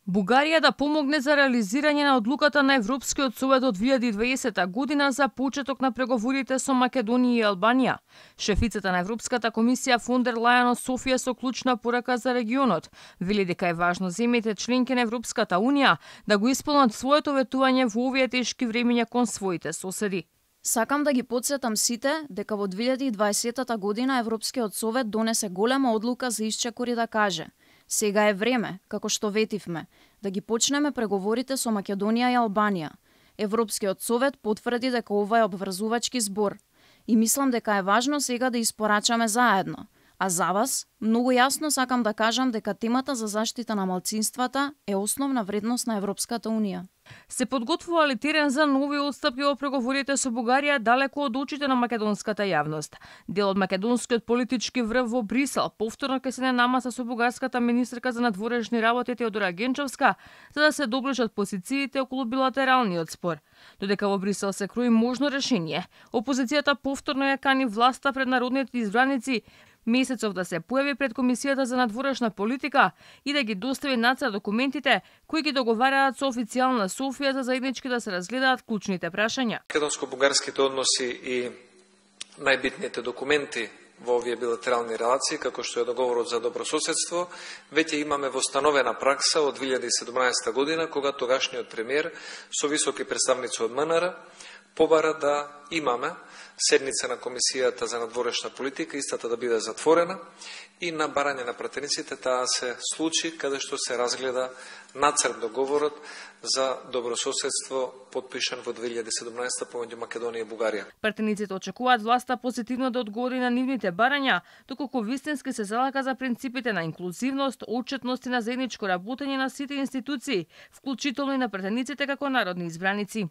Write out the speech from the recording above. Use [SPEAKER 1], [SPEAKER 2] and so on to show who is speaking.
[SPEAKER 1] Бугарија да помогне за реализирање на одлуката на Европскиот совет од 2020 година за почеток на преговорите со Македонија и Албанија. Шефицата на Европската комисија фон дер Лајен од Софија со клучна порака за регионот вели дека е важно земјите членки на Европската унија да го исполнат своето ветување во овие тешки времиња кон своите соседи.
[SPEAKER 2] Сакам да ги потсетам сите дека во 2020 година Европскиот совет донесе голема одлука за исчекор и да каже: сега е време, како што ветивме, да ги почнеме преговорите со Македонија и Албанија. Европскиот совет потврди дека ова е обврзувачки збор и мислам дека е важно сега да испорачаме заедно. А за вас, многу јасно сакам да кажам дека темата за заштита на малцинствата е основна вредност на Европската унија.
[SPEAKER 1] Се подготвува ли терен за нови отстапки во преговорите со Бугарија далеко од очите на македонската јавност? Дел од македонскиот политички врв во Брисел повторно ќе седне намаса со бугарската министерка за надворешни работи Теодора Генчовска за да се доближат позициите околу билатералниот спор. Додека во Брисел се крои можно решение, опозицијата повторно ја кани власта пред народните избраници месецов да се појави пред Комисијата за надворешна политика и да ги достави нацрт документите кои ги договараат со официјална Софија за заеднички да се разгледаат клучните прашања.
[SPEAKER 3] Македонско-бугарските односи и најбитните документи во овие билатерални релации, како што е договорот за добрососедство, веќе имаме востановена пракса од 2017 година, кога тогашниот премиер со високи представници од МНР побара да имаме седница на Комисијата за надворешна политика, истата да биде затворена и на барање на пратениците таа се случи каде што се разгледа нацрт договорот за добрососедство подпишан во 2017 помеѓу Македонија и Бугарија.
[SPEAKER 1] Пратениците очекуваат власта позитивно да одговори на нивните барања, доколку вистински се залага за принципите на инклузивност, отчетност и на заедничко работење на сите институции, вклучително и на пратениците како народни избраници.